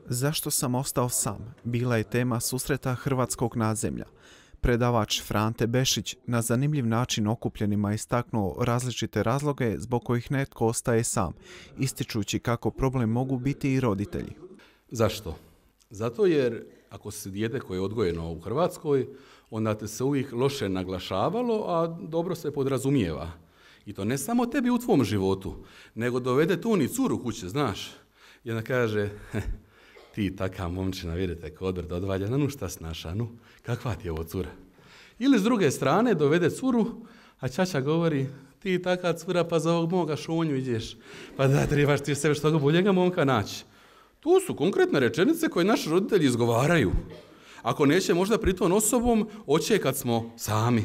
Zašto sam ostao sam? Bila je tema susreta hrvatskog nadzemlja. Predavač Frante Bešić na zanimljiv način okupljenima istaknuo različite razloge zbog kojih netko ostaje sam, ističući kako problem mogu biti i roditelji. Zašto? Zato jer ako si dijete koje je odgojeno u Hrvatskoj, onda te se uvijek loše naglašavalo, a dobro se podrazumijeva. I to ne samo tebi u tvom životu, nego dovede tu ni curu kuće, znaš. I onda kaže, ti taka momčina, vidite, kodr da odvalja, nu šta snaša, nu, kakva ti je ovo cura? Ili s druge strane dovede curu, a ćaća govori, ti taka cura, pa za ovog moga šunju ideš, pa da trebaš ti sebe što boljega momka naći. Tu su konkretne rečenice koje naši roditelji izgovaraju. Ako neće možda pritom osobom, oće kad smo sami.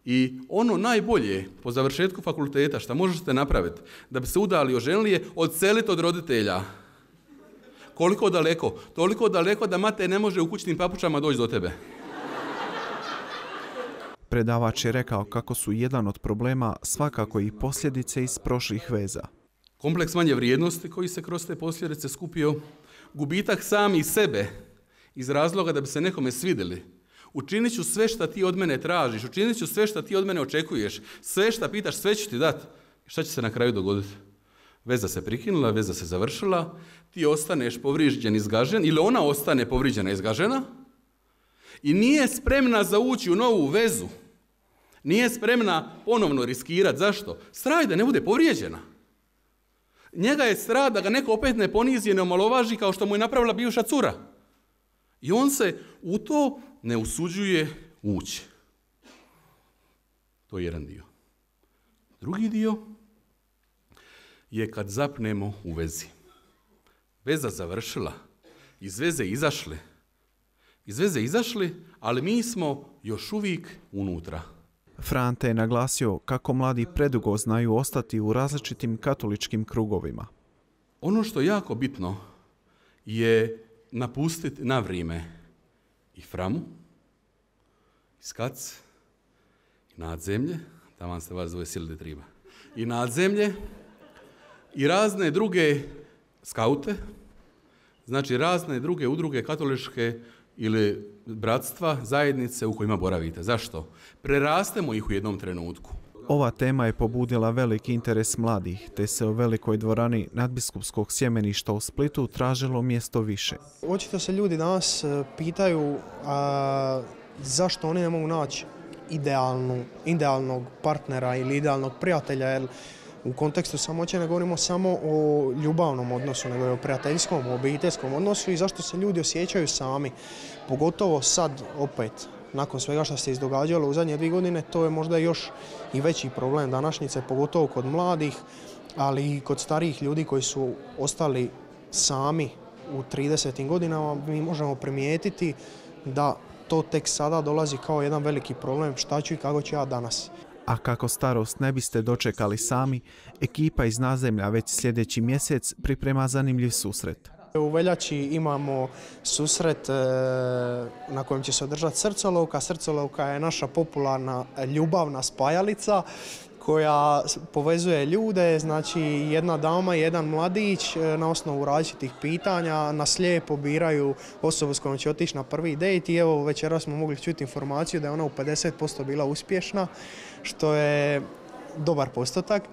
I ono najbolje po završetku fakulteta što možete napraviti da bi se udali i oženili je odseliti od roditelja. Koliko daleko? Toliko daleko da mate ne može u kućnim papučama doći do tebe. Predavač je rekao kako su jedan od problema svakako i posljedice iz prošlih veza. Kompleks manje vrijednosti koji se kroz te posljedice skupio, gubitak sami sebe iz razloga da bi se nekome svidjeli. Učinit ću sve što ti od mene tražiš, učinit ću sve što ti od mene očekuješ, sve što pitaš, sve ću ti dati. Šta će se na kraju dogoditi? Veza se prekinula, veza se završila, ti ostaneš povrijeđen, izgažen, ili ona ostane povrijeđena, izgažena i nije spremna za ući u novu vezu. Nije spremna ponovno riskirati. Zašto? Strah da ne bude povrijeđena. Njega je strah da ga neko opet ne ponizi, ne omalovaži kao što mu je napravila bivša cura. I on se u to ne usuđuje ući. To je jedan dio. Drugi dio je kad zapnemo u vezi. Veza završila, iz veze izašli. Iz veze izašli, ali mi smo još uvijek unutra. Frante je naglasio kako mladi predugo znaju ostati u različitim katoličkim krugovima. Ono što je jako bitno je napustiti na vrijeme i Framu, i Skac, i Nadzemlje, tamo ste vas dvoje sili triba, i Nadzemlje, i razne druge skaute, znači razne druge udruge katoličke ili bratstva, zajednice u kojima boravite. Zašto? Prerastemo ih u jednom trenutku. Ova tema je pobudila veliki interes mladih, te se u velikoj dvorani nadbiskupskog sjemeništa u Splitu tražilo mjesto više. Očito se ljudi danas pitaju zašto oni ne mogu naći idealnog partnera ili idealnog prijatelja, jer u kontekstu samoće ne govorimo samo o ljubavnom odnosu, nego i o prijateljskom, obiteljskom odnosu i zašto se ljudi osjećaju sami. Pogotovo sad opet, nakon svega što se izdogađalo u zadnje 2 godine, to je možda još i veći problem današnjice, pogotovo kod mladih, ali i kod starijih ljudi koji su ostali sami u 30. godinama. Mi možemo primijetiti da to tek sada dolazi kao jedan veliki problem, šta ću i kako ću ja danas. A kako starost ne biste dočekali sami, ekipa iz Nadzemlja već sljedeći mjesec priprema zanimljiv susret. U veljači imamo susret na kojem će se održati srcolovka. Srcolovka je naša popularna ljubavna spajalica koja povezuje ljude, znači jedna dama i jedan mladić na osnovu različitih pitanja na slijepo biraju osobu s kojom će otići na prvi dejt i evo večeras smo mogli čuti informaciju da je ona u 50% bila uspješna, što je dobar postotak.